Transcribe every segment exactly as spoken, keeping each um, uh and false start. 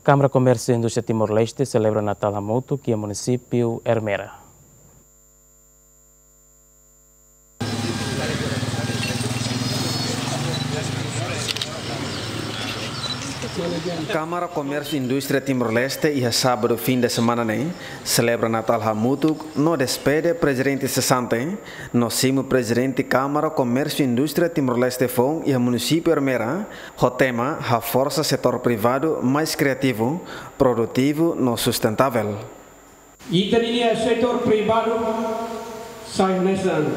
Kámara Komérsiu Indústria Timor-Leste selebra Natál hamutuk iha munisípiu Ermera. Kámara Komérsiu Indústria Timor-Leste iha sábadu fim de semana ne'e selebra Natál hamutuk no despede prezidente sesante no simu prezidente Kámara Komérsiu Indústria Timor-Leste foun iha munisípiu Ermera, ho tema Haforsa Setór Privadu Mais Kriativu, Produtivu no Sustentável. Ita-nia setór privadu sai hanesan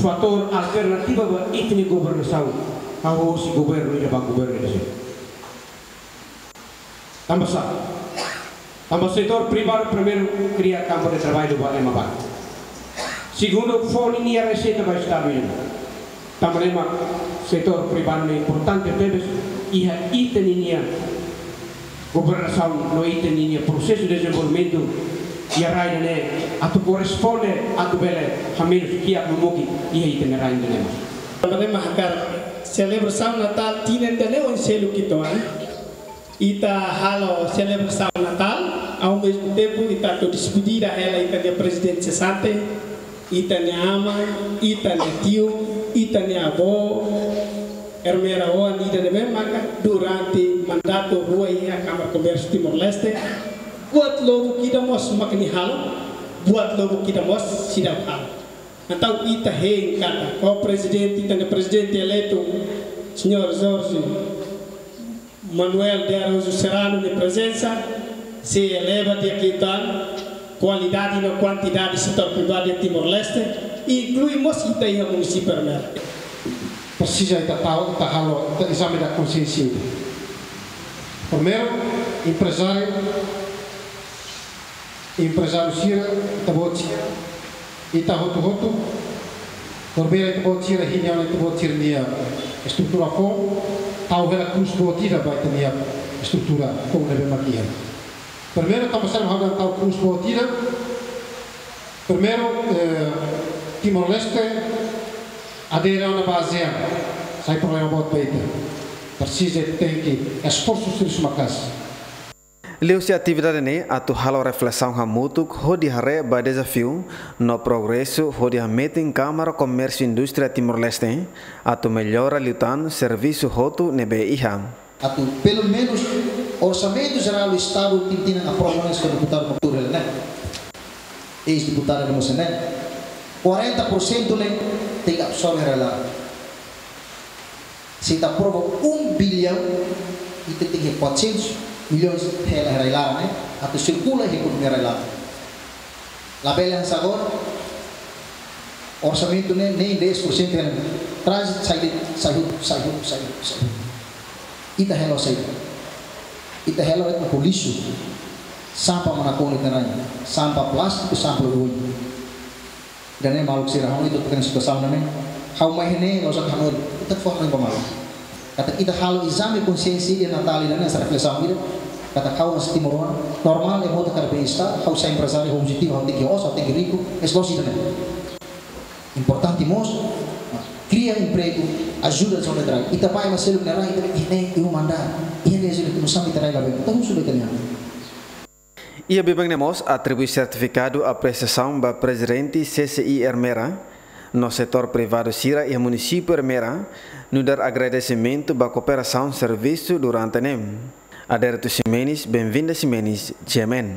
fatór alternativa ba ita-nia governasaun, hahú husi governu ida ba governu ida seluk. Tanba sá? Tanba setór privadu primeiru kria kampu de traballu ba ema barak. Segundu, fó ninia reseita ba Estadu nian. Tanba ne'e mak setór privadu ne'e importante tebes iha ita-nia governasaun no ita-nia prosesu dezenvolvimentu iha rai ida-ne'e atu korresponde atu bele hamenus kiak no mukit iha ita-nia rai ida-ne'e. Tanba ne'e mak hakarak selebrasaun Natál tinan ida-ne'e oin seluk uitoan. Ita halo selebrasaun Natál, ao mesmo tempo ita atu despedida hela ita-nia prezidente sesante, ita-nia aman, ita-nia tiu, ita-nia avó, Ermera oan ida ne'ebé maka durante mandatu rua iha Kámara Komérsiu Timor-Leste, buat lubuk ida mós mak nia halo, buat lubuk ida mós seidauk halo. Entaun ita hein katak, ó prezidente, ita-nia prezidente eleitu, señór Jorge Manuel de Araújo Serrano nia prezensa, sei eleva di'ak uitoan kualidade no kuantidade setór privadu iha Timor-Leste, inklui mós ita iha munisípiu Ermera. Presiza ita tau, ita halo, ita ezame da konxiénsia ida. Primeiru, emprezáriu, emprezáriu sira, ita-boot sira, ita hotu-hotu, primeiru ita-boot sira, hinian ita-boot sira-nia estrutura foun, tau hela krús boot ida ba ita-nia estrutura foun ne'ebé mak iha. Primeiru, tanba sá mak ha'u dehan tau krús boot ida? Primeiru, eh, Timor-Leste adere ona ba ASEAN, sai problema boot ba ita. Presiza tenke esforsu sériu maka'as. Liuhusi atividade ne'e atu halo reflesaun hamutuk hodi haree ba dezafiu no progresu hodi hametin Kámara Komérsiu Indústria Timor-Leste atu mellora liután servisu hotu ne'ebé iha. Atu pelumenus orsamentu jerál Estadu tinan-tinan aprova ona, señór deputadu Matur ne'e, eis-deputadu ne'e mós ne'e, quarenta por cento ne'e tenke absorve iha rai-laran. Se ita aprova um bilhão, ita tenke quatrocentos milhões hela iha rai-laran ne'e, atu sirkula iha ekonomia rai-laran. Labele hanesan agora, orsamentu ne'e, nem dez por cento ne'e, traz, sai de, sai hotu, sai hotu, sai hotu, sai hotu. Ita hela saida? Ita hela de'it ho lixu, sampah mak nakonu iha rai, sampah plástiku, sampah oioin. Ida-ne'e maluk sira, ha'u ita tukan situasaun ne'e, ha'u mai iha ne'e, la'ós atu hanoin, ita fó hanoin ba maluk. Katak ita halo ezame konxiénsia iha Natál ida-ne'e, hanesan reflesaun ida, katak ha'u hanesan timoroan, normál ema hotu hakarak bem-estar, ha'u sai emprezáriu, ha'u objetivu, ha'u tenke osan, ha'u tenke riku, es la'ós ida-ne'e. Importante mós, kria empregu, ajuda zona de trabalho. Ita bá iha ema seluk nia rai, ita bá, ih, ne'e, iha uma andár, ih, ne'e, zona de trabalho, ita rai la bem, ita husu ba ita-nia. Iha biban ne'e mós atribui sertifikadu apresiasaun ba prezidente C C I Ermera no setór privadu sira iha munisípiu Ermera, nu'udar agradesimentu ba kooperasaun servisu durante ne'e. Adérito Ximenes, Benvinda Ximenes, G M N.